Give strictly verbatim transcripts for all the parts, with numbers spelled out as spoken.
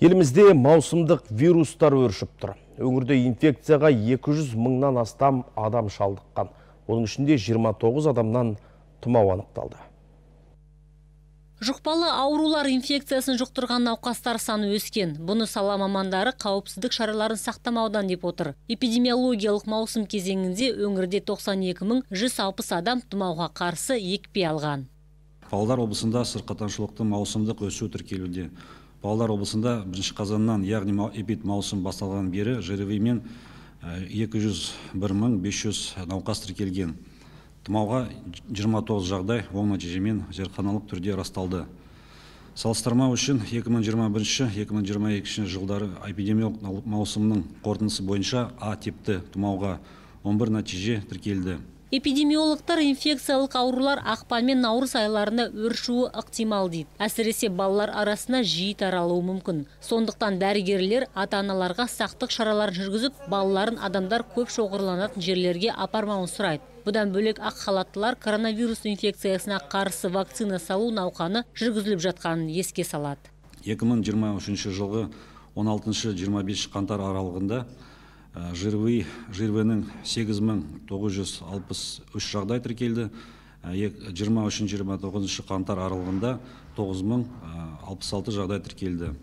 Елімізде маусымдық вирустар өршіп тұр. Өңірде инфекцияға екі жүз мыңнан астам адам шалдыққан. Оның ішінде жиырма тоғыз адамнан тұмау анықталды. Жұқпалы аурулар инфекциясын жұқтырған науқастар саны өскен. Бұны сала мамандары қауіпсіздік шараларын сақтамаудан деп отыр. Эпидемиологиялық маусым кезеңінде өңірде тоқсан екі мың жүз алпыс адам тұмауға қарсы екпе алған. Павлодар облысында сырқаттанушылықтың маусымдық өсуі тіркелуде. Павлодар облысында бірінші қазаннан, яғни эпид маусым басталған бері ЖРВ-мен екі жүз бір мың бес жүз науқас тіркелген. Тұмауға жиырма тоғыз жағдай оң нәтижемен зертханалық түрде расталды. Салыстырмау үшін екі мың жиырма бірінші - екі мың жиырма екінші жылдары эпидемиялық маусымның қорытындысы бойынша А типті тұмауға он бір нәтиже тіркелді. Эпидемиологтар инфекциялық аурулар ақпан мен наурыз айларында өршуі ықтимал дейді. Әсіресе балалар арасына жиі таралуы мүмкін. Сондықтан дәрігерлер ата-аналарға сақтық шараларын жүргізіп, балаларын адамдар көп шоғырланатын жерлерге апармауын сұрайды. Бұдан бөлек ақ халаттылар коронавирус инфекциясына қарсы вакцина салу науқаны жүргізіліп жатқанын еске салады. екі мың жиырма үшінші жылғы он алтыншы - жиырма бесінші қаңтар аралығында ЖРВ-нің сегіз мың тоғыз жүз алпыс үш жағдай тіркелді. жиырма үшінші - жиырма тоғызыншы қаңтар аралығында тоғыз мың алпыс алты жағдай тіркелді.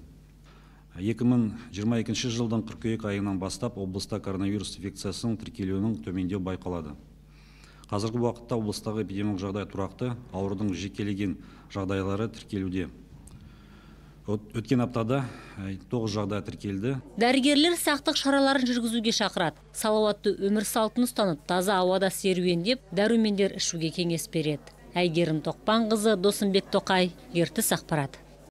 екі мың жиырма екінші жылдың қыркүйек айынан бастап облыста коронавирус инфекциясының тіркелуінің төмендеу байқалады. Қазіргі уақытта облыстағы эпидемиялық жағдай тұрақты, аурудың жекелеген жағдайлары тіркелуде. Өткен аптада тоғыз жағдай тіркелді. Дәрігерлер сақтық шараларын жүргізуге шақырады. Салауатты өмір салтын ұстанып, таза ауада серуендеп, дәрумендер ішуге кеңес береді. Әйгерім Тоқпанқызы, Досымбек Тоқай, Ертіс ақпарат.